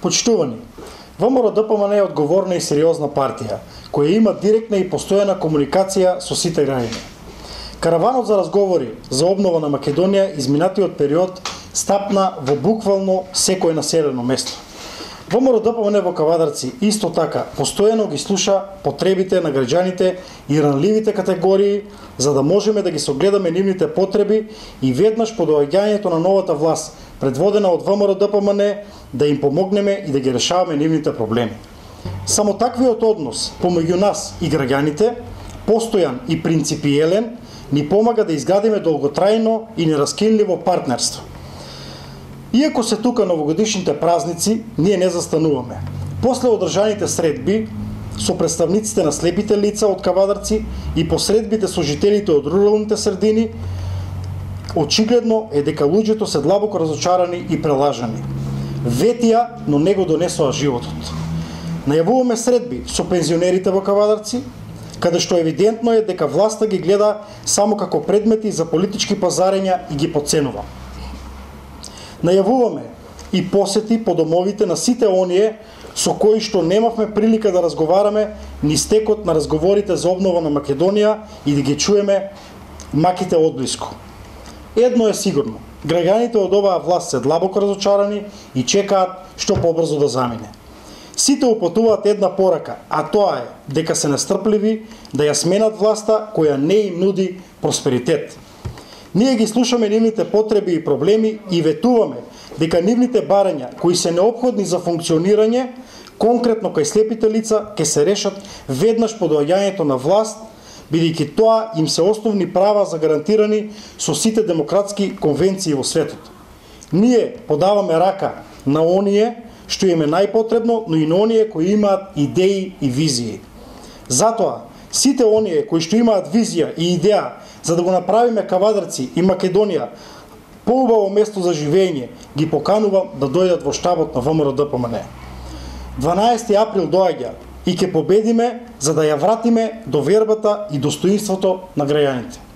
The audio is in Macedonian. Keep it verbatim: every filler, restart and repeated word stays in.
Почитувани, ВМРО-ДПМН е одговорна и сериозна партија, која има директна и постојана комуникација со сите граѓани. Караванот за разговори за обнова на Македонија изминатиот период стапна во буквално секое населено место. ВМРО-ДПМН во Кавадарци исто така постојано ги слуша потребите на граѓаните и ранливите категории, за да можеме да ги согледаме нивните потреби и веднаш по доаѓањето на новата власт, предводена од ВМРО-ДПМН, да им помогнеме и да ги решаваме нивните проблеми. Само таквиот однос помеѓу нас и граѓаните, постојан и принципиелен, ни помага да изградиме долготрајно и нераскинливо партнерство. Иако се тука новогодишните празници, ние не застануваме. После одржаните средби со представниците на слепите лица од Кавадарци и посредбите со жителите од руралните средини, очигледно е дека луѓето се длабоко разочарани и прелажани. Ветија, но не го донесоа животот. Најавуваме средби со пензионерите во Кавадарци, каде што евидентно е дека власта ги гледа само како предмети за политички пазарења и ги потценува. Најавуваме и посети по домовите на сите оние со кои што немавме прилика да разговараме ни стекот на разговорите за обнова на Македонија и да ги чуеме маките одблиску. Едно е сигурно, граѓаните од оваа власт се длабоко разочарани и чекаат што побрзо да замине. Сите упатуваат една порака, а тоа е дека се настрпливи да ја сменат власта која не им нуди просперитет. Ние ги слушаме нивните потреби и проблеми и ветуваме дека нивните барања кои се неопходни за функционирање, конкретно кај слепите лица, ќе се решат веднаш по доаѓањето на власт, бидејќи тоа им се основни права загарантирани со сите демократски конвенции во светот. Ние подаваме рака на оние што им е најпотребно, но и на оние кои имаат идеи и визии. Затоа, сите оние кои што имаат визија и идеја за да го направиме Кавадарци и Македонија поубаво место за живење, ги поканувам да дојдат во штабот на ВМРО-ДПМН. дванаесети април доаѓа и ќе победиме за да ја вратиме довербата и достоинството на граѓаните.